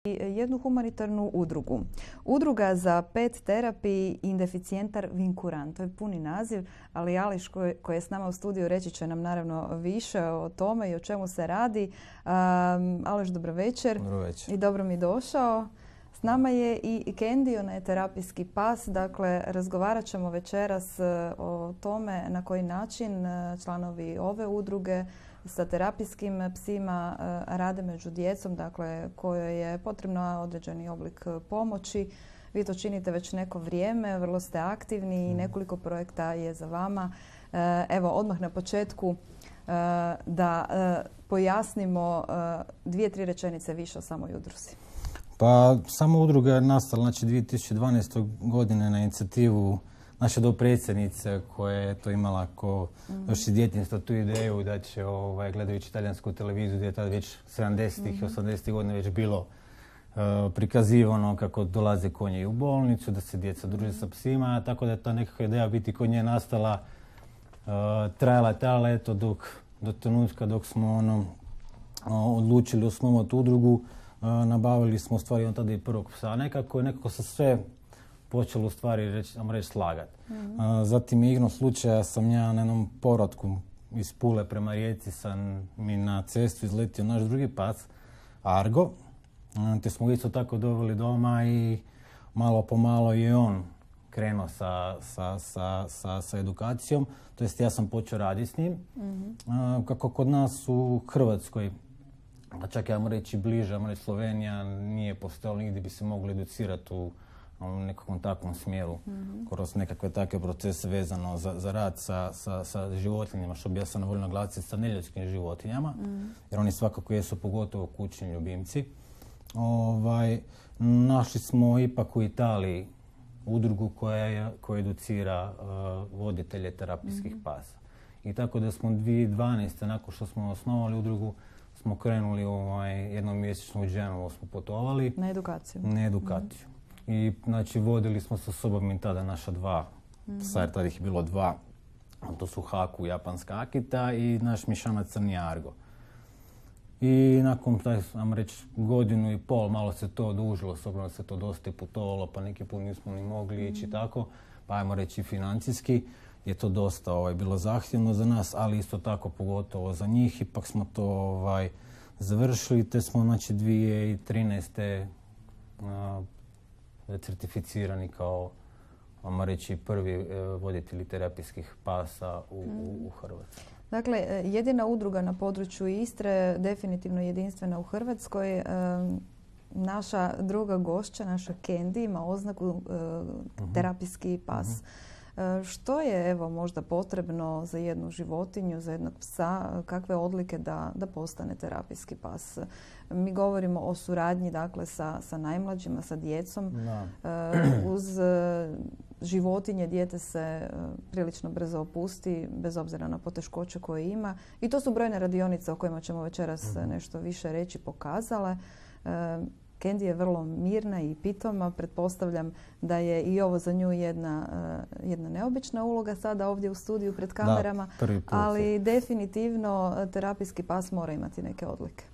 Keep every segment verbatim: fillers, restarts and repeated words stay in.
jednu humanitarnu udrugu. Udruga za pet terapiji indeficijentar vinkuran. To je puni naziv, ali Ališ koji, koji je s nama u studiju reći će nam naravno više o tome i o čemu se radi. Um, Ališ, dobro večer. Dobro večer. I dobro mi došao. S nama je i Candy, ona je terapijski pas. Dakle, razgovarat ćemo večeras o tome na koji način članovi ove udruge sa terapijskim psima rade među djecom, dakle kojoj je potrebno određeni oblik pomoći. Vi to činite već neko vrijeme, vrlo ste aktivni i nekoliko projekta je za vama. Evo, odmah na početku da pojasnimo dvije, tri rečenice više o samoj udruzi. Pa, sama udruga je nastala znači, dvije tisuće dvanaeste. godine na inicijativu naše dopredsjednice koja je to imala ko mm-hmm. još iz djetinjstva tu ideju da će ovaj, gledajući talijansku televiziju gdje je tada već sedamdesetih i mm-hmm. osamdesetih godina već bilo uh, prikazivano kako dolaze konji u bolnicu, da se djeca druže sa psima, tako da je ta nekakva ideja biti kod nje nastala, uh, trajala, trajala eto dok, do trenutka dok smo ono, uh, odlučili osnovati udrugu, uh, nabavili smo u stvari on tada i prvog psa. Nekako, nekako se sve počelo u stvari reći, reći slagati. Mm-hmm. Zatim igrom slučaja sam ja na jednom povratku iz Pule prema Rijeci sam mi na cestu izletio naš drugi pas, Argo. Te smo isto tako doveli doma i malo po malo je on krenuo sa, sa, sa, sa, sa edukacijom. To jest ja sam počeo raditi s njim. Mm-hmm. Kako kod nas u Hrvatskoj, pa čak ja moram reći bliže, ja reći Slovenija, nije postojalo nigdje bi se mogli educirati u u nekakvom takvom smjeru, mm-hmm. kroz nekakve takve procese vezano za, za rad sa, sa, sa životinjama, što bi ja sam voljela naglasiti sa neljudskim životinjama, mm-hmm. jer oni svakako jesu pogotovo kućni ljubimci. Ovaj, našli smo ipak u Italiji udrugu koja, je, koja educira uh, voditelje terapijskih mm-hmm. pasa. I tako da smo dvije tisuće dvanaeste. nakon što smo osnovali udrugu, smo krenuli ovaj, jednom mjesečno u Genovu, smo putovali. Na edukaciju. Na edukaciju. Mm-hmm. I znači vodili smo sa sobom i tada naša dva mm-hmm. psa, jer tada ih je bilo dva. To su Haku, japanska Akita i naš mišanac crni Argo. I nakon, taj, vam reći, godinu i pol malo se to odužilo, s obzirom da se to dosta putovalo, pa neki put nismo ni mogli mm-hmm. ići tako. Pa ajmo reći financijski je to dosta ovaj, bilo zahtjevno za nas, ali isto tako pogotovo za njih. Ipak smo to ovaj, završili, te smo znači dvije tisuće trinaeste. Uh, certificirani kao, vamo reći, prvi e, voditelji terapijskih pasa u, mm. u, u Hrvatskoj. Dakle, jedina udruga na području Istre, definitivno jedinstvena u Hrvatskoj. E, naša druga gošća, naša Candy, ima oznaku e, mm-hmm. terapijski pas. Mm-hmm. E, što je evo možda potrebno za jednu životinju, za jednog psa, kakve odlike da, da postane terapijski pas? Mi govorimo o suradnji dakle, sa, sa najmlađima, sa djecom. No. E, uz e, životinje dijete se e, prilično brzo opusti, bez obzira na poteškoće koje ima. I to su brojne radionice o kojima ćemo večeras mm-hmm. nešto više reći pokazale. E, Candy je vrlo mirna i pitoma. Pretpostavljam da je i ovo za nju jedna, uh, jedna neobična uloga sada ovdje u studiju pred kamerama. Da, prvi put. Ali definitivno terapijski pas mora imati neke odlike.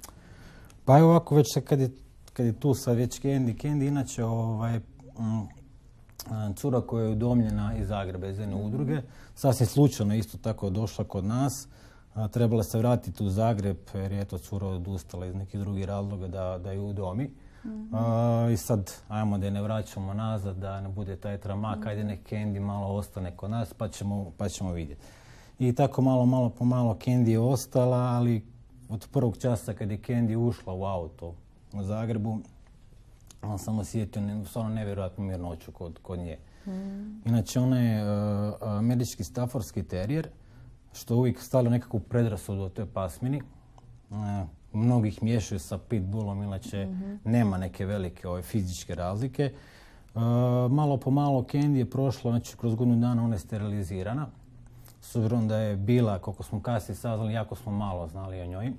Pa evo ovako već kad je, kad je tu sad već Candy. Candy inače ovaj, um, cura koja je udomljena iz Zagreba, iz jedne mm-hmm. udruge. Sasvim slučajno isto tako došla kod nas. A, trebala se vratiti u Zagreb jer je to cura odustala iz nekih drugih razloga da, da ju udomi. Mm-hmm. Uh, I sad, ajmo da je ne vraćamo nazad, da ne bude taj tramak, mm-hmm. ajde nek Candy malo ostane kod nas pa ćemo, pa ćemo vidjeti. I tako malo, malo po malo Candy je ostala, ali od prvog časa kad je Candy ušla u auto u Zagrebu, on sam osjetio stvarno nevjerojatnu mirnoću kod, kod nje. Mm-hmm. Inače, ona je uh, američki staffordski terijer, što uvijek stavlja nekakvu predrasudu o toj pasmini. Uh, Mnogih miješaju sa pitbullom, inače mm-hmm. nema neke velike ove, fizičke razlike. E, malo po malo Candy je prošla, znači kroz godinu dana ona je sterilizirana. S obzirom da je bila, koliko smo kasnije saznali, jako smo malo znali o njoj. E,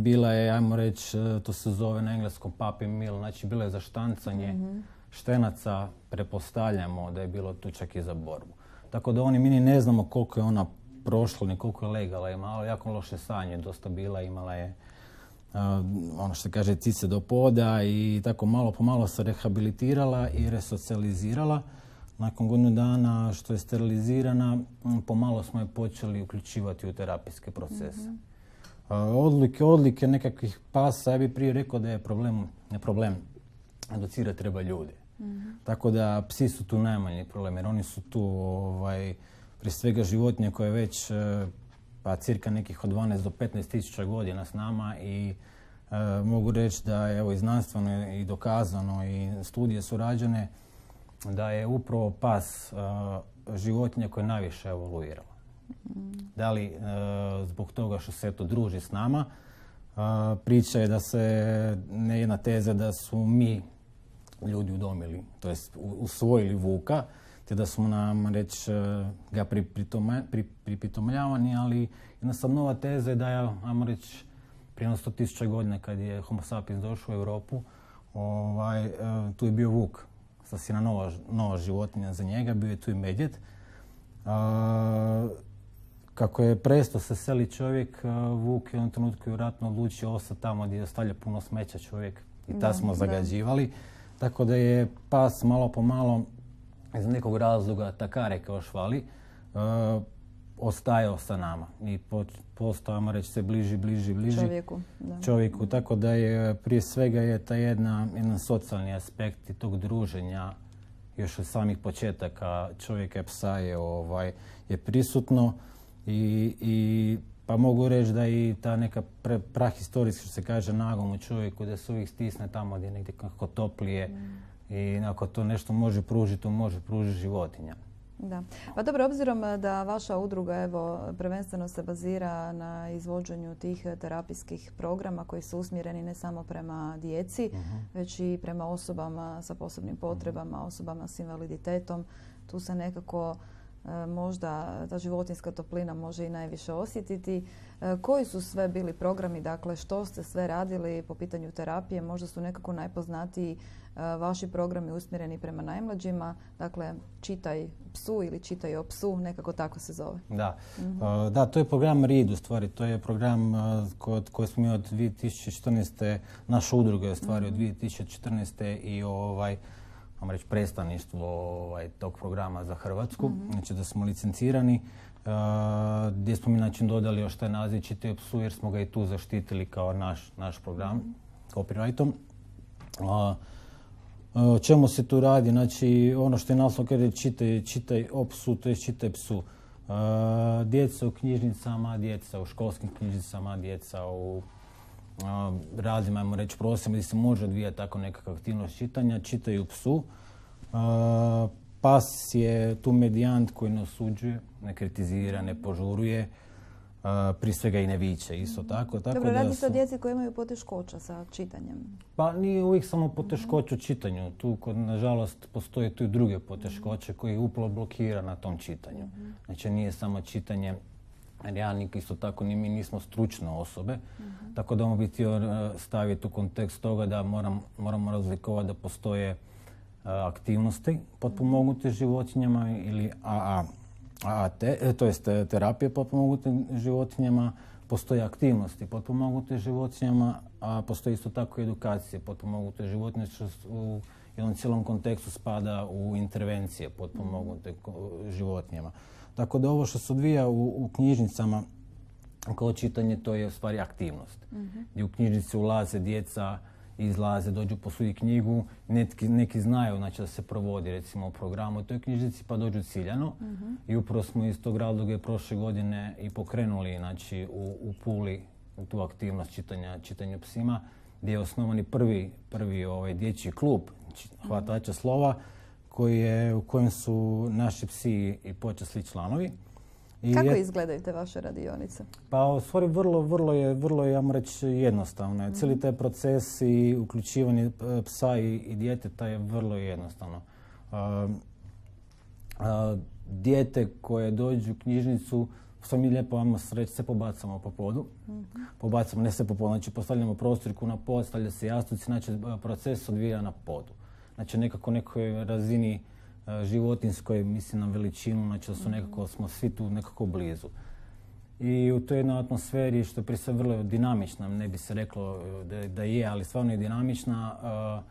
bila je, ajmo reći, to se zove na engleskom puppy mill, znači bila je za štancanje mm-hmm. štenaca, pretpostavljamo da je bilo tu čak i za borbu. Tako da oni mi ni ne znamo koliko je ona prošlo, ni koliko je legala, imala jako loše stanje, dosta bila, imala je ono što kaže cice do poda i tako malo po malo se rehabilitirala i resocijalizirala. Nakon godinu dana što je sterilizirana, pomalo smo je počeli uključivati u terapijske procese. Mm-hmm. Odlike, odlike nekakvih pasa, ja bih prije rekao da je problem, ne problem, educirati treba ljude. Mm-hmm. Tako da psi su tu najmanji problem, jer oni su tu ovaj, prije svega životinje koje već pa cirka nekih od dvanaest do petnaest tisuća godina s nama i e, mogu reći da je evo, i znanstveno i dokazano i studije su rađene da je upravo pas e, životinja koja je najviše evoluirala. Mm. Da li e, zbog toga što se to druži s nama, e, priča je da se, ne jedna teza da su mi ljudi udomili, to jest usvojili vuka, te da smo nam reći ga pripitomljavani, pri, ali jednostavno nova teza je da je, ajmo reći, prije sto tisuća godina kad je Homo sapiens došao u Europu, ovaj, tu je bio vuk, sasvim nova, nova životinja za njega, bio je tu i medvjed. Kako je prestao se seli čovjek, vuk je u onom trenutku vjerojatno odlučio ostati tamo gdje je ostavlja puno smeća čovjek i ta smo zagađivali. Tako da je pas malo po malo iz nekog razloga takare kao švali, uh, ostajao sa nama i postajamo reći se bliži, bliži, bliži čovjeku. Da. čovjeku. Tako da je prije svega je taj jedna, jedan socijalni aspekt i tog druženja još od samih početaka čovjeka i psa je, ovaj, je prisutno i, i pa mogu reći da i ta neka pre, prahistorijska, što se kaže, nagom u čovjeku, da se uvijek stisne tamo gdje je negdje kako toplije. Mm. I ako to nešto može pružiti, to može pružiti životinja. Da. Pa dobro, obzirom da vaša udruga evo, prvenstveno se bazira na izvođenju tih terapijskih programa koji su usmjereni ne samo prema djeci, uh-huh. već i prema osobama sa posebnim potrebama, uh-huh. osobama s invaliditetom. Tu se nekako e, možda ta životinjska toplina može i najviše osjetiti. E, koji su sve bili programi, dakle što ste sve radili po pitanju terapije? Možda su nekako najpoznatiji vaši programi usmjereni prema najmlađima, dakle čitaj psu ili čitaj o psu, nekako tako se zove. Da, mm-hmm. uh, da to je program R I D u stvari, to je program uh, kod, koji smo mi od dvije tisuće četrnaeste. Naša udruga je u stvari mm-hmm. od dvije tisuće četrnaeste. i ovaj, vam reći, predstavništvo ovaj, tog programa za Hrvatsku, mm-hmm. znači da smo licencirani, uh, gdje smo mi način dodali još taj naziv čitaj o psu jer smo ga i tu zaštitili kao naš, naš program, mm-hmm. copyrightom. Uh, O čemu se tu radi? Znači, ono što je naslov kaže čitaj, čitaj o psu, to je čitaj psu. Uh, djeca u knjižnicama, djeca u školskim knjižnicama, djeca u uh, raznim, ajmo reći, prostorima gdje se može odvijati tako nekakva aktivnost čitanja, čitaju psu. Uh, pas je tu medijant koji ne osuđuje, ne kritizira, ne požuruje. Uh, prije svega i ne viče, isto tako. tako Dobro, da radi se su... o djeci koji imaju poteškoća sa čitanjem. Pa nije uvijek samo poteškoće u čitanju. Tu, kod, nažalost, postoje tu i druge poteškoće koje upravo blokira na tom čitanju. Mm-hmm. Znači, nije samo čitanje, jer ja isto tako ni mi nismo stručne osobe, mm-hmm. tako da mogu biti staviti u kontekst toga da moram, moramo razlikovati da postoje uh, aktivnosti potpomognute životinjama ili A A. A te, to jest terapije potpomognute životinjama, postoje aktivnosti potpomognute životinjama, a postoji isto tako i edukacije potpomognute životinje, što u jednom cijelom kontekstu spada u intervencije potpomognute životinjama. Tako da ovo što se odvija u, u knjižnicama kao čitanje, to je u stvari aktivnost. Mm-hmm. Gdje u knjižnici ulaze djeca, izlaze, dođu posuditi knjigu, neki, neki znaju znači, da se provodi recimo u programu u toj knjižnici pa dođu ciljano. Mm-hmm. I upravo smo iz tog razloga prošle godine i pokrenuli znači, u, u Puli tu aktivnost čitanja, čitanja psima, gdje je osnovani prvi, prvi ovaj, dječji klub hvatača slova koji je, u kojem su naši psi i počasni članovi. I kako je, izgledaju te vaše radionice? Pa u stvari vrlo, vrlo je, vrlo je, ja moram reći, jednostavno. Mm-hmm. Cijeli taj proces i uključivanje psa i, i djeteta je vrlo jednostavno. Uh, uh, dijete koje dođe u knjižnicu, što mi lijepo vamo sreći, se pobacamo po podu. Mm-hmm. Pobacamo, ne se po podu, znači postavljamo prostorku na pod, stavlja se jastuci, znači proces odvija na podu. Znači nekako nekoj razini životinskoj, mislim na veličinu, znači da su nekako, smo svi tu nekako blizu. I u toj jednoj atmosferi, što je prije sve vrlo dinamična, ne bi se reklo da, da je, ali stvarno je dinamična, uh,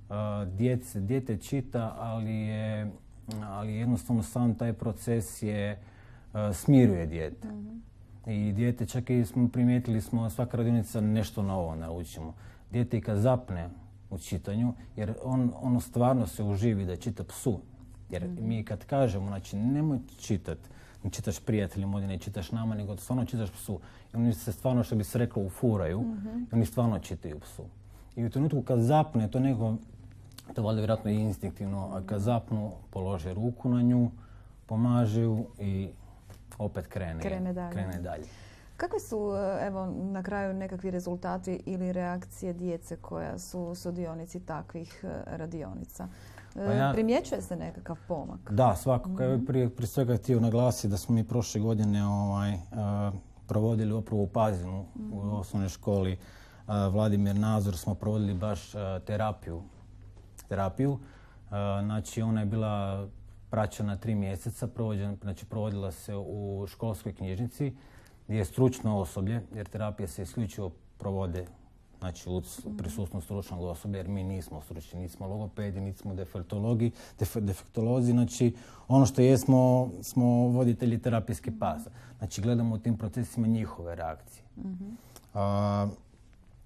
uh, djece, dijete čita, ali je, ali jednostavno sam taj proces je, uh, smiruje dijete. Mm-hmm. I dijete, čak i smo primijetili smo, svaka radionica nešto novo naučimo. Dijete i kad zapne u čitanju, jer on, ono stvarno se uživi da čita psu. Jer mm-hmm. mi kad kažemo, znači nemoj čitati, ne čitaš prijateljima, ne čitaš nama, nego stvarno čitaš psu. I oni se stvarno, što bi se reklo, ufuraju, mm-hmm. i oni stvarno čitaju psu. I u trenutku kad zapne, to nego, to valjda vjerojatno i instinktivno, a kad zapnu, polože ruku na nju, pomaže ju i opet krene, krene dalje. Krene dalje. Kakvi su, evo, na kraju nekakvi rezultati ili reakcije djece koja su sudionici takvih radionica? Pa ja, primjećuje se nekakav pomak? Da, svakako. Mm-hmm. Ja prije, prije svega htio naglasiti da smo mi prošle godine ovaj, uh, provodili upravo u Pazinu, mm-hmm. u osnovnoj školi uh, Vladimir Nazor, smo provodili baš uh, terapiju. terapiju. Uh, znači, ona je bila praćena tri mjeseca, provođena, znači provodila se u školskoj knjižnici, gdje je stručno osoblje, jer terapije se isključivo provode, znači u prisustvu stručnog osoblja, jer mi nismo stručni, nismo logopedi, nismo defektologi, def, defektolozi, znači ono što jesmo, smo voditelji terapijskih pasa. Znači gledamo u tim procesima njihove reakcije. Mm-hmm. A,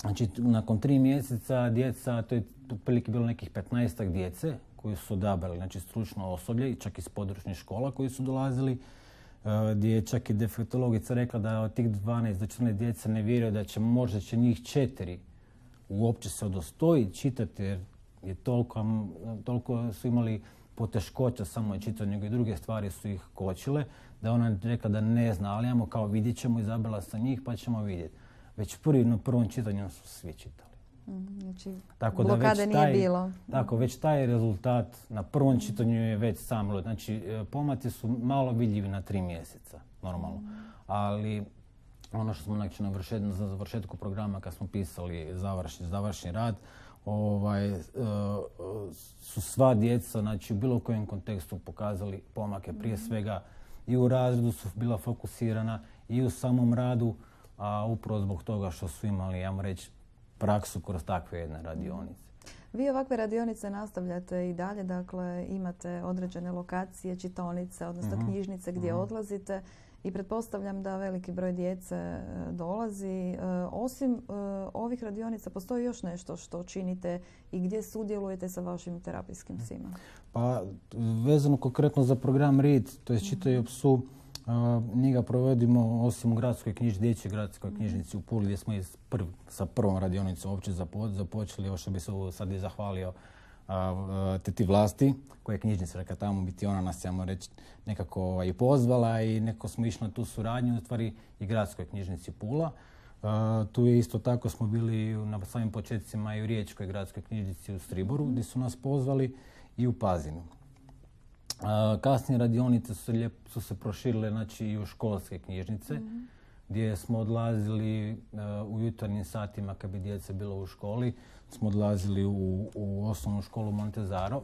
znači nakon tri mjeseca djeca, to je otprilike bilo nekih petnaestak djece koji su odabrali, znači stručno osoblje i čak iz područnih škola koji su dolazili, gdje je čak i defektologica rekla da od tih dvanaest do četrnaest djeca ne vjeruju da će možda će njih četiri uopće se udostojiti čitati, jer je toliko, toliko su imali poteškoća samo čitanju, nego i druge stvari su ih kočile, da ona rekla da ne zna, ali ajmo kao vidjet ćemo, izabrala sa njih pa ćemo vidjeti. Već prvi, na prvom čitanju su svi čitali. Znači, tako blokade da već nije taj, bilo. Tako, već taj rezultat na prvom čitanju je već sam. Znači, pomaci su malo vidljivi na tri mjeseca, normalno. Mm. Ali ono što smo znači, na vršet, za završetku programa, kad smo pisali završni, završni rad, ovaj, su sva djeca, znači, u bilo kojem kontekstu pokazali pomake. Prije svega i u razredu su bila fokusirana i u samom radu, a upravo zbog toga što su imali, ja moram reći, praksu kroz takve jedne radionice. Vi ovakve radionice nastavljate i dalje, dakle imate određene lokacije, čitaonice, odnosno mm-hmm. knjižnice gdje mm-hmm. odlazite i pretpostavljam da veliki broj djece dolazi. E, osim e, ovih radionica postoji još nešto što činite i gdje sudjelujete sa vašim terapijskim psima? Pa vezano konkretno za program R I D, to je Čitaju o psu, Uh, mi ga provodimo osim u gradskoj knjižnici, dječjoj gradskoj knjižnici u Puli, gdje smo prv, sa prvom radionicom uopće zapo, započeli, ovo što bi se sad i zahvalio uh, uh, teti Vlasti, koja je knjižnica reka tamo biti, ona nas, ja moram reći, nekako ovaj, i pozvala i nekako smo išli na tu suradnju, u stvari i gradskoj knjižnici Pula. Uh, tu je isto tako smo bili na samim početcima i u Riječkoj gradskoj knjižnici u Striboru, gdje su nas pozvali, i u Pazinu. Uh, kasnije radionice su, lijep, su se proširile znači, i u školske knjižnice, mm-hmm. gdje smo odlazili uh, u jutarnjim satima kad bi djeca bilo u školi. Smo odlazili u, u osnovnu školu Montezaro.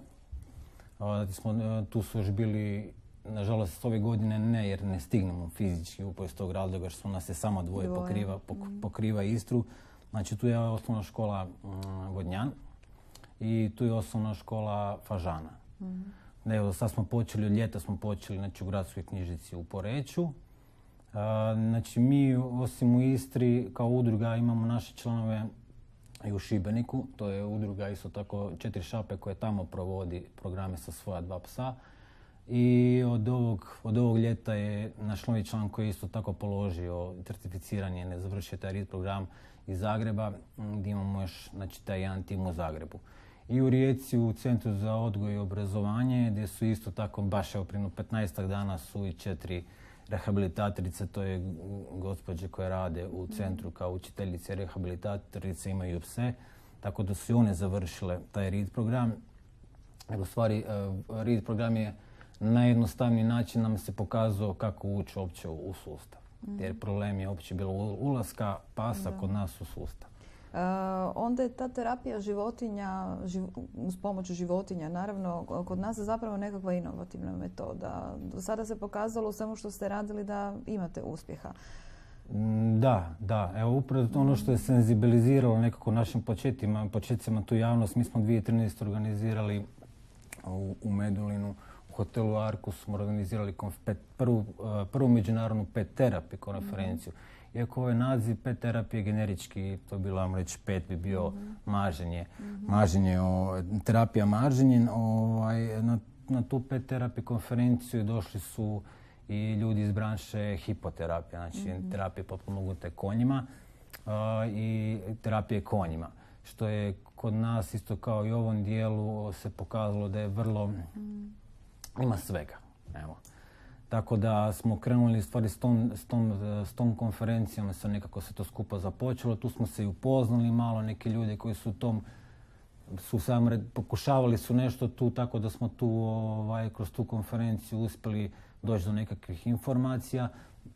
Uh, smo, uh, tu su još bili, nažalost, ove godine ne, jer ne stignemo fizički upravo iz tog razloga što su nas je samo dvoje, dvoje. Pokriva, pok, mm-hmm. pokriva Istru. Znači tu je osnovna škola um, Vodnjan i tu je osnovna škola Fažana. Mm-hmm. Evo, sad smo počeli, od ljeta smo počeli znači, u gradskoj knjižnici u Poreču. A, znači, mi osim u Istri kao udruga imamo naše članove i u Šibeniku. To je udruga isto tako Četiri šape koje tamo provodi programe sa svoja dva psa. I od ovog, od ovog ljeta je naš novi član koji je isto tako položio certificiranje, ne završio taj R I D program iz Zagreba, gdje imamo još znači, taj jedan tim u Zagrebu. I u Rijeci u Centru za odgoj i obrazovanje, gdje su isto tako, baš evo prije petnaestak dana su i četiri rehabilitatorice, to je gospođe koje rade u centru kao učiteljice rehabilitatorice, imaju pse, tako da su i one završile taj R I D program. U stvari, R I D program je najjednostavniji način nam se pokazao kako ući uopće u sustav. Jer problem je uopće bilo ulaska pasa da. Kod nas u sustav. Uh, onda je ta terapija životinja, živ, uz pomoć životinja, naravno, kod nas je zapravo nekakva inovativna metoda. Do sada se pokazalo u svemu što ste radili da imate uspjeha. Da, da. Evo upravo ono što je senzibiliziralo nekako našim početcima, početcima tu javnost. Mi smo dvije tisuće trinaeste. organizirali u, u Medulinu, u hotelu Arkus smo organizirali konf, pet, prvu, prvu međunarodnu pet terapiju konferenciju. Mm-hmm. Iako ovaj naziv pet terapije generički, to je bilo, vam reći, pet bi bio mm-hmm. maženje. Mm-hmm. Maženje, o, terapija maženje. Ovaj, na, na tu pet terapiju konferenciju došli su i ljudi iz branše hipoterapije, znači mm-hmm. terapije potpomognute konjima uh, i terapije konjima. Što je kod nas isto kao i u ovom dijelu se pokazalo da je vrlo, mm. ima svega. Evo. Tako da smo krenuli stvari s tom, s tom, s tom konferencijom, sa nekako se to skupa započelo. Tu smo se i upoznali malo, neki ljudi koji su u tom su sam pokušavali su nešto tu, tako da smo tu ovaj, kroz tu konferenciju uspjeli doći do nekakvih informacija,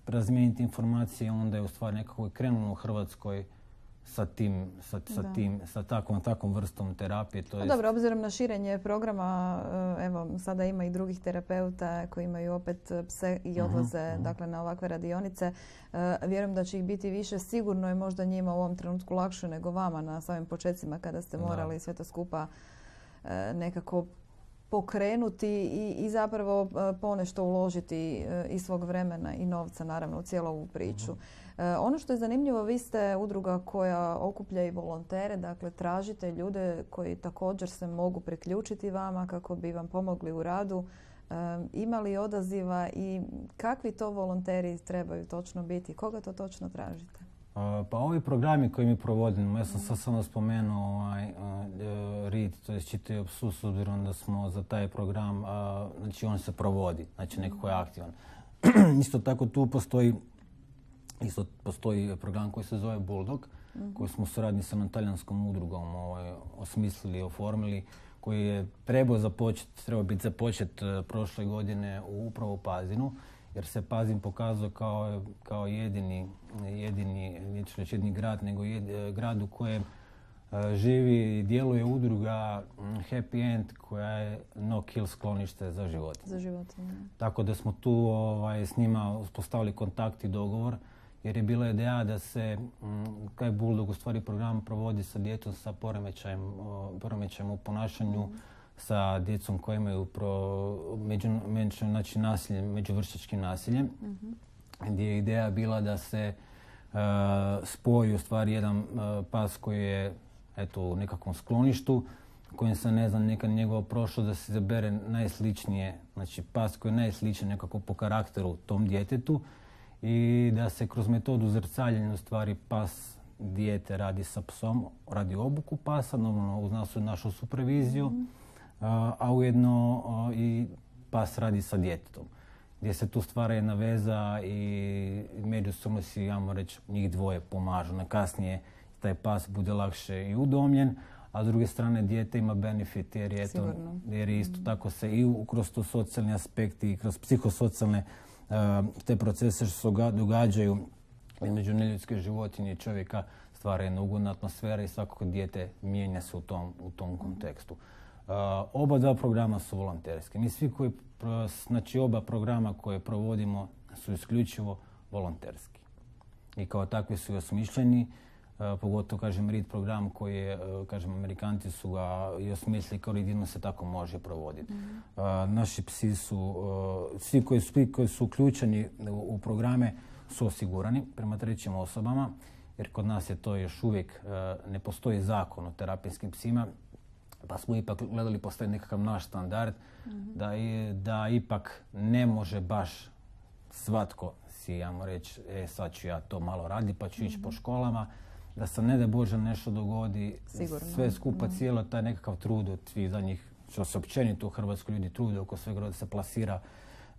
razmijeniti informacije, onda je u stvari nekako krenulo u Hrvatskoj sa tim, sa, sa tim, sa takvom, takvom vrstom terapije. To jest... Dobro, obzirom na širenje programa, evo, sada ima i drugih terapeuta koji imaju opet pse i odlaze uh-huh. dakle, na ovakve radionice. Vjerujem da će ih biti više. Sigurno je možda njima u ovom trenutku lakše nego vama na samim počecima kada ste morali da. sve to skupa nekako pokrenuti i, i zapravo ponešto uložiti i svog vremena i novca naravno u cijelu ovu priču. Uh-huh. Ono što je zanimljivo, vi ste udruga koja okuplja i volontere, dakle tražite ljude koji također se mogu priključiti vama kako bi vam pomogli u radu. Ima li odaziva i kakvi to volonteri trebaju točno biti? Koga to točno tražite? Pa ovi programi koje mi provodimo, ja sam sad samo spomenuo ovaj, uh, R I D, to je čitaju psu, s obzirom da smo za taj program, uh, znači on se provodi, znači nekako je aktivan. Isto tako tu postoji, isto postoji program koji se zove Bulldog, mm-hmm. koji smo u suradnji sa talijanskom udrugom ovaj, osmislili i oformili, koji je trebao započeti, trebao biti započet uh, prošle godine u upravo u Pazinu. Jer se Pazin pokazao kao, kao jedini, jedini, neću reći jedini grad, nego jed, grad u kojem uh, živi i djeluje udruga Happy End koja je no kill sklonište za životinje. Za životinje. Tako da smo tu ovaj, s njima uspostavili kontakt i dogovor, jer je bila ideja da se taj Bulldog u stvari program provodi sa djetom sa poremećajem, uh, poremećajem u ponašanju, mm. sa djecom koji imaju pro, među, među, znači nasiljem, međuvršnjačkim nasiljem, mm-hmm. gdje je ideja bila da se uh, spoji u stvari jedan uh, pas koji je eto, u nekakvom skloništu, kojim se ne znam neka njegova prošlost, da se zabere najsličnije, znači pas koji je najsličniji nekako po karakteru tom djetetu i da se kroz metodu zrcaljenja u stvari pas dijete radi sa psom, radi obuku pasa, normalno uz nas, našu superviziju, mm-hmm. a, a ujedno a, i pas radi sa djetetom, gdje se tu stvara jedna veza i međusobno si, ja reći, njih dvoje pomažu. Na kasnije taj pas bude lakše i udomljen, a s druge strane dijete ima benefit jer je, to, jer je isto tako se i u, kroz to socijalni aspekt i kroz psihosocijalne uh, te procese što se događaju između neljudske životinje i čovjeka stvara jedna ugodna atmosfera i svakako dijete mijenja se u tom, u tom kontekstu. Uh, oba dva programa su volonterski. Mi svi koji, znači oba programa koje provodimo su isključivo volonterski. I kao takvi su i osmišljeni, uh, pogotovo, kažem, R I D program koji je, uh, kažem, Amerikanci su ga i osmislili kao jedino se tako može provoditi. Mm-hmm. Uh, naši psi su, uh, svi koji su, koji su uključeni u, u programe su osigurani prema trećim osobama, jer kod nas je to još uvijek, uh, ne postoji zakon o terapijskim psima, pa smo ipak gledali postoji nekakav naš standard, mm-hmm. da, i, da ipak ne može baš svatko si, ja reći, e, sad ću ja to malo raditi pa ću mm-hmm. ići po školama, da se ne da Bože nešto dogodi, sigurno. Sve skupa, mm-hmm. cijelo taj nekakav trud od svih zadnjih, što se općenito u Hrvatskoj ljudi trude oko svega da se plasira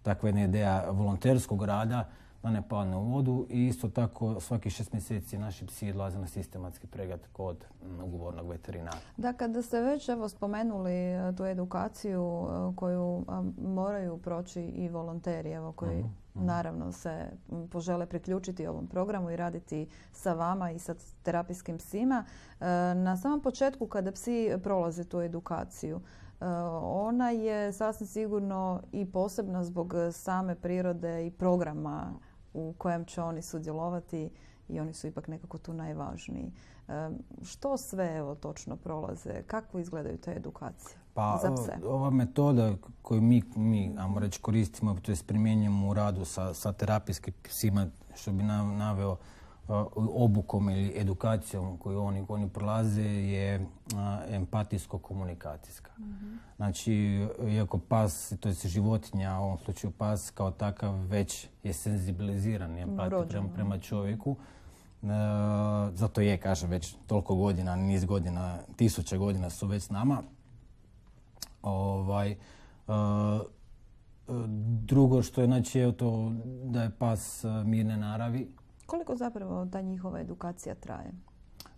takva jedna ideja volonterskog rada, da ne padne u vodu i isto tako svaki šest mjeseci naši psi odlaze na sistematski pregled kod ugovornog veterinara. Da, kada ste već evo, spomenuli tu edukaciju koju moraju proći i volonteri evo, koji mm-hmm. naravno se požele priključiti ovom programu i raditi sa vama i sa terapijskim psima, na samom početku kada psi prolaze tu edukaciju, ona je sasvim sigurno i posebna zbog same prirode i programa u kojem će oni sudjelovati i oni su ipak nekako tu najvažniji. Što sve evo točno prolaze? Kako izgledaju te edukacije pa, za pse? Ova metoda koju mi, mi ajmo reći, koristimo, to je primjenjujemo u radu sa, sa terapijskim psima, što bi naveo obukom ili edukacijom koju oni, oni prolaze, je empatijsko-komunikacijska. Mm-hmm. Znači, iako pas, to je životinja, u ovom slučaju pas kao takav već je senzibiliziran empatiju prema, prema čovjeku. E, zato je, kažem, već toliko godina, niz godina, tisuće godina su već s nama. Ovaj, e, drugo što je, znači, je to da je pas mirne naravi. Koliko zapravo ta njihova edukacija traje?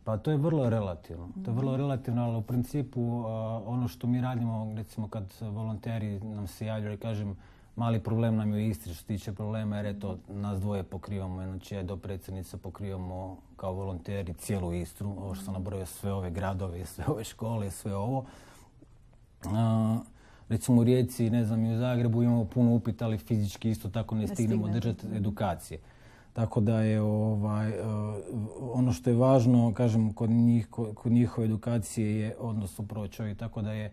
Pa to je vrlo relativno. To je vrlo relativno, ali u principu uh, ono što mi radimo, recimo kad volonteri nam se javljaju i kažem mali problem nam je u Istri što se tiče problema, jer eto nas dvoje pokrivamo, znači ja do predsjednica pokrivamo kao volonteri cijelu Istru, ovo što sam nabrojao, sve ove gradove, sve ove škole, sve ovo. Uh, recimo u Rijeci, ne znam, i u Zagrebu imamo puno upita, ali fizički isto tako ne, ne stignemo držati edukacije. Tako da je ovaj, ono što je važno, kažem, kod, njih, kod njihove edukacije je odnos upravo čovjek. Tako da je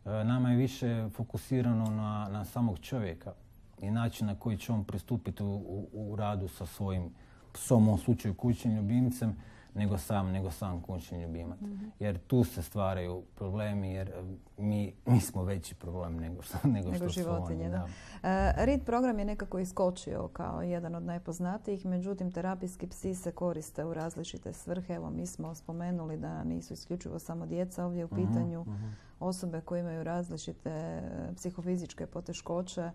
nama je više fokusirano na, na samog čovjeka i način na koji će on pristupiti u, u, u radu sa svojim psom, u ovom slučaju kućnim ljubimcem, nego sam, nego sam kućni ljubimac. Mm-hmm. Jer tu se stvaraju problemi, jer mi, mi smo veći problem nego što, nego nego što životinje, su oni. Da. Da. E, R I D program je nekako iskočio kao jedan od najpoznatijih, međutim terapijski psi se koriste u različite svrhe. Evo, mi smo spomenuli da nisu isključivo samo djeca ovdje u pitanju, mm-hmm. osobe koje imaju različite psihofizičke poteškoće,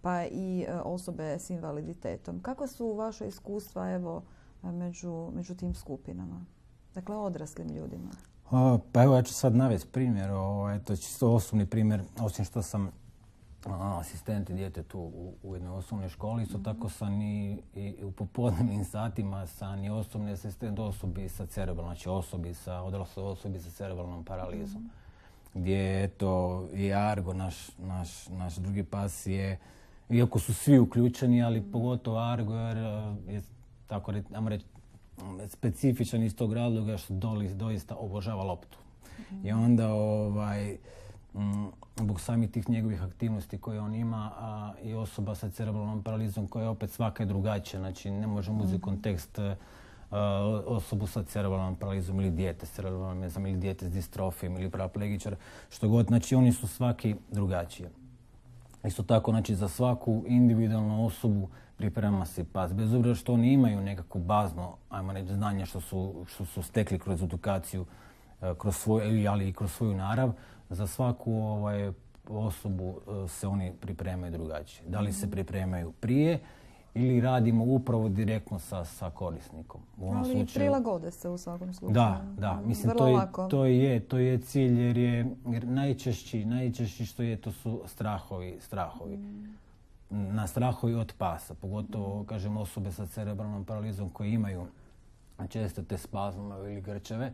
pa i osobe s invaliditetom. Kako su vaše iskustva, evo, Među, među tim skupinama? Dakle, odraslim ljudima. O, pa evo, ja ću sad navesti primjer. O, to je čisto osobni primjer. Osim što sam a, asistent i djetetu u, u jednoj osnovnoj školi, isto mm-hmm. tako sam i, i u popodnevnim satima sam i osobni asistent osobi sa cerebralnom, znači osobi sa, odrasloj osobi sa cerebralnom paralizom. Mm-hmm. Gdje, eto, i Argo, naš, naš, naš drugi pas je, iako su svi uključeni, ali mm-hmm. pogotovo Argo, jer je tako reći, specifičan iz tog razloga što Dolis doista obožava loptu. Mm-hmm. I onda ovaj, zbog samih tih njegovih aktivnosti koje on ima, a i osoba sa cerebralnom paralizom koja je opet svaka je drugačija. Znači ne možemo uzeti kontekst uh, osobu sa cerebralnom paralizom ili dijete s cerebralnom, ne znam, ili dijete s distrofijom ili paraplegičar, što god. Znači oni su svaki drugačiji. Isto tako, znači za svaku individualnu osobu priprema se pas. Bez obzira što oni imaju nekako bazno, ajmo reći, znanje što su, što su stekli kroz edukaciju, kroz svoj, ali i kroz svoju narav, za svaku ovaj, osobu se oni pripremaju drugačije. Da li se pripremaju prije ili radimo upravo direktno sa, sa korisnikom. U ovom ali slučaju, prilagode se u svakom slučaju. Da, da. Mislim, to je, to, je, to je cilj jer je jer najčešći, najčešći što je, to su strahovi. strahovi. Mm. Na strahovi od pasa, pogotovo, kažem, osobe sa cerebralnom paralizom koji imaju često te spazme ili grčeve,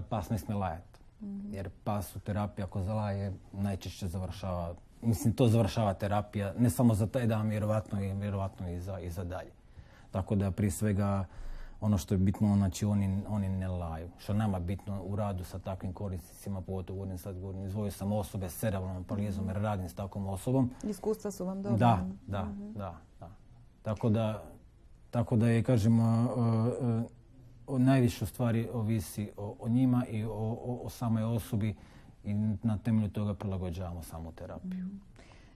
pas ne smije lajati. Mm-hmm. Jer pas u terapiji ako zalaje najčešće završava, mislim to završava terapija ne samo za taj dan, vjerovatno i, vjerovatno i, za, i za dalje. Tako da prije svega ono što je bitno, znači oni, oni ne laju. Što nama bitno u radu sa takvim korisnicima, pogotovo govorim sad, govorim, izvojio sam osobe s cerebralnom paralizom jer radim s takvom osobom. Iskustva su vam dobra. Da, da, mm-hmm. da, da. Tako da, tako da je, kažem, uh, uh, o najviše stvari ovisi o, o njima i o, o, o samoj osobi i na temelju toga prilagođavamo samu terapiju. Mm.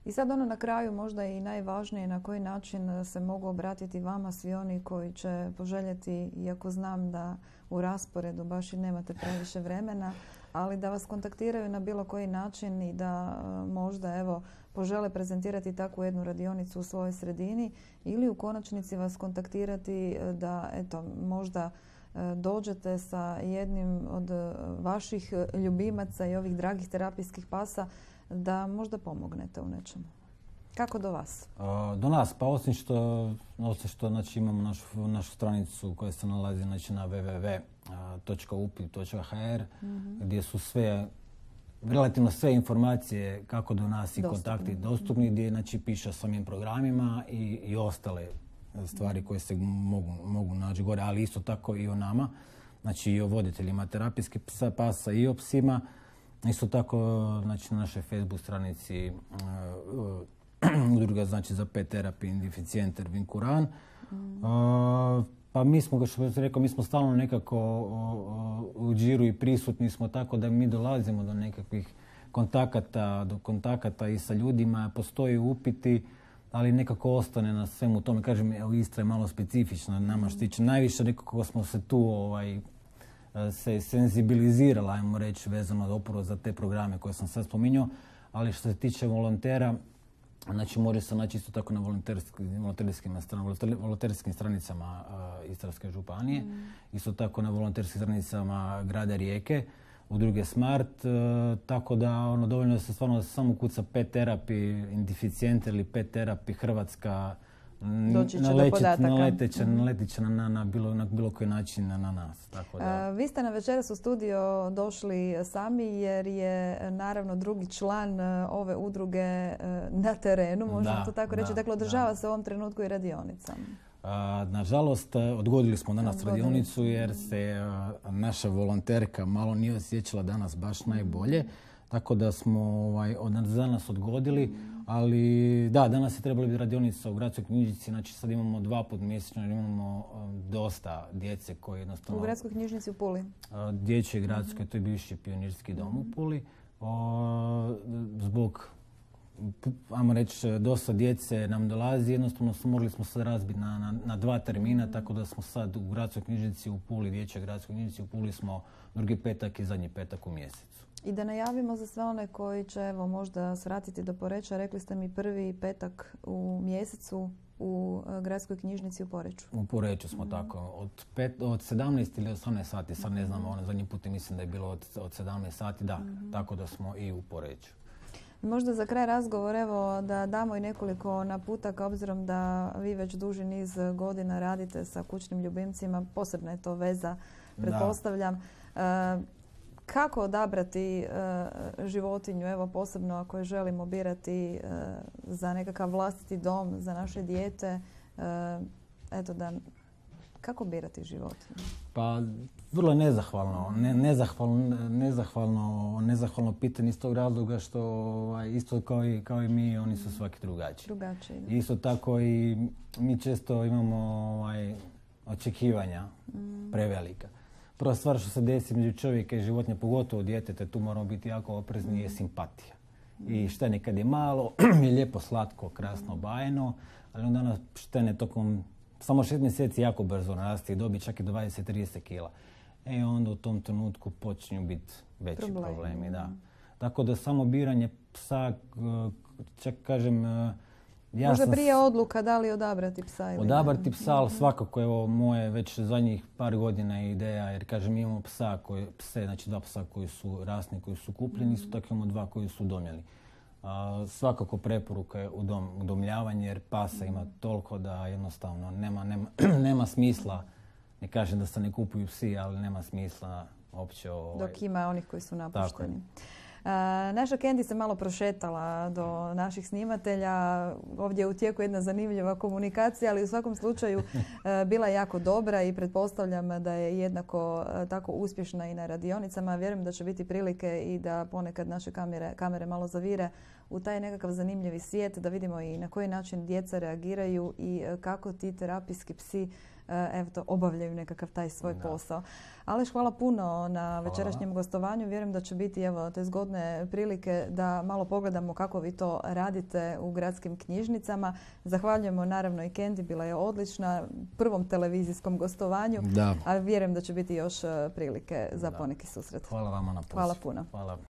I sad ono na kraju možda i najvažnije na koji način se mogu obratiti vama svi oni koji će poželjeti, iako znam da u rasporedu baš i nemate previše vremena, ali da vas kontaktiraju na bilo koji način i da možda evo požele prezentirati takvu jednu radionicu u svojoj sredini ili u konačnici vas kontaktirati da eto možda dođete sa jednim od vaših ljubimaca i ovih dragih terapijskih pasa da možda pomognete u nečemu. Kako do vas? Do nas, pa osim što, osim što znači, imamo našu, našu stranicu koja se nalazi znači, na w w w točka upit točka h r mm-hmm. gdje su sve relativno sve informacije kako do nas i Dostupni. kontakti dostupni, gdje znači, piše o samim programima i, i ostale stvari koje se mogu, mogu naći gore, ali isto tako i o nama, znači i o voditeljima terapijskih psa, pasa i o psima. Isto tako znači, na našoj Facebook stranici uh, uh, udruga znači, za pet terapiju Indificenter Vinkuran. Mm. Uh, pa mi smo, kao što sam rekao, mi smo stalno nekako uh, u džiru i prisutni smo tako da mi dolazimo do nekakvih kontakata, do kontakata i sa ljudima, postoje upiti, ali nekako ostane na svemu tome. Kažem, evo, Istra je malo specifična nama što tiče. Najviše nekako smo se tu ovaj, se senzibilizirala, ajmo reći, vezano upravo za te programe koje sam sad spominjao, ali što se tiče volontera, znači može se naći isto tako na volonterskim, volonterskim, stran, volonterskim stranicama uh, Istarske županije, mm. isto tako na volonterskim stranicama grada Rijeke, udruge Smart, uh, tako da ono, dovoljno se stvarno samo kuca pet terapi, Indificenter ili pet terapi Hrvatska, naletit će mm-hmm. na, na, bilo, na bilo koji način na, na nas. Tako da. A, vi ste na večeras u studio došli sami jer je naravno drugi član ove udruge na terenu, možemo da, to tako reći. Da, dakle, održava da. se u ovom trenutku i radionica. A, nažalost, odgodili smo danas odgodili. radionicu jer se a, naša volonterka malo nije osjećala danas baš najbolje. Tako da smo ovaj, od danas odgodili, mm. ali da, danas je trebala biti radionica u gradskoj knjižnici, znači sad imamo dva put mjesečno, imamo um, dosta djece koji jednostavno... U gradskoj knjižnici u Puli? Uh, Dječje gradske, mm-hmm. to je bivši pionirski dom mm-hmm. u Puli. O, zbog, ajmo reći, dosta djece nam dolazi, jednostavno smo, morali smo sad razbiti na, na, na dva termina, mm-hmm. tako da smo sad u gradskoj knjižnici u Puli, Dječje gradskoj knjižnici u Puli smo drugi petak i zadnji petak u mjesecu. I da najavimo za sve one koji će evo, možda svratiti do Poreča, rekli ste mi prvi petak u mjesecu u uh, gradskoj knjižnici u Poreču. U Poreču smo mm-hmm. tako. Od, pet, od sedamnaest ili osamnaest sati, sad ne znam, ono zadnji put mislim da je bilo od, od sedamnaest sati, da, mm-hmm. tako da smo i u Poreču. Možda za kraj razgovor, evo, da damo i nekoliko naputaka, obzirom da vi već duži niz godina radite sa kućnim ljubimcima, posebna je to veza, pretpostavljam. Da. Uh, Kako odabrati uh, životinju, evo posebno ako je želimo birati uh, za nekakav vlastiti dom, za naše dijete, uh, eto da, kako birati životinju? Pa vrlo nezahvalno, ne, nezahvalno, nezahvalno, nezahvalno pitanje iz tog razloga što ovaj, isto kao i, kao i mi, oni su svaki drugačiji. Drugačiji. Isto tako i mi često imamo ovaj, očekivanja mm. prevelika. Prva stvar što se desi među čovjeka i životinja, pogotovo djeteta, tu moramo biti jako oprezni, je simpatija. I štene kad je malo, je lijepo, slatko, krasno, bajno, ali onda nas štene tokom samo šest mjeseci jako brzo narasti i dobi čak i dvadeset do trideset kila. E onda u tom trenutku počinju biti veći Problem. problemi. Da. Tako da samo biranje psa, čak kažem, ja Možda sam prije odluka da li odabrati psa ili Odabrati ne. psa, ali svakako evo moje već zadnjih par godina je ideja, jer kažem imamo psa koji, pse, znači dva psa koji su rasni, koji su kupljeni, isto tako imamo dva koji su udomljeni. A, svakako preporuka je udom, udomljavanje jer pasa ima toliko da jednostavno nema, nema, nema smisla, ne kažem da se ne kupuju psi, ali nema smisla uopće. Ovaj, Dok ima onih koji su napušteni. Uh, naša Candy se malo prošetala do naših snimatelja. Ovdje je u tijeku jedna zanimljiva komunikacija, ali u svakom slučaju uh, bila je jako dobra i pretpostavljam da je jednako uh, tako uspješna i na radionicama. Vjerujem da će biti prilike i da ponekad naše kamere, kamere malo zavire u taj nekakav zanimljivi svijet, da vidimo i na koji način djeca reagiraju i uh, kako ti terapijski psi evo to, obavljaju nekakav taj svoj da. posao. Aleš, hvala puno na večerašnjem hvala. gostovanju. Vjerujem da će biti evo, te zgodne prilike da malo pogledamo kako vi to radite u gradskim knjižnicama. Zahvaljujemo naravno i Candy, bila je odlična prvom televizijskom gostovanju, da. a vjerujem da će biti još prilike za da. poneki susret. Hvala vama na poziv. Hvala puno. Hvala.